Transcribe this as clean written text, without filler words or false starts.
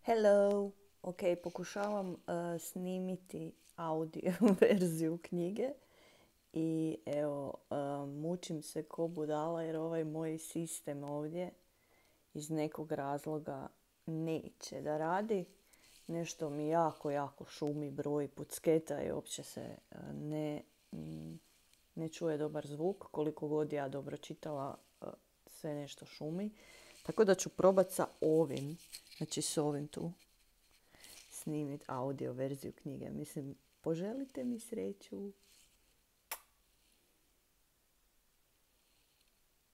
Hello! Ok, pokušavam snimiti audio verziju knjige i evo, mučim se ko budala jer ovaj moj sistem ovdje iz nekog razloga neće da radi. Nešto mi jako šumi, broji, pucketa i uopće se ne, ne čuje dobar zvuk. Koliko god ja dobro čitala, sve nešto šumi. Tako da ću probat sa ovim, znači s ovim tu, snimiti audio verziju knjige. Mislim, poželite mi sreću.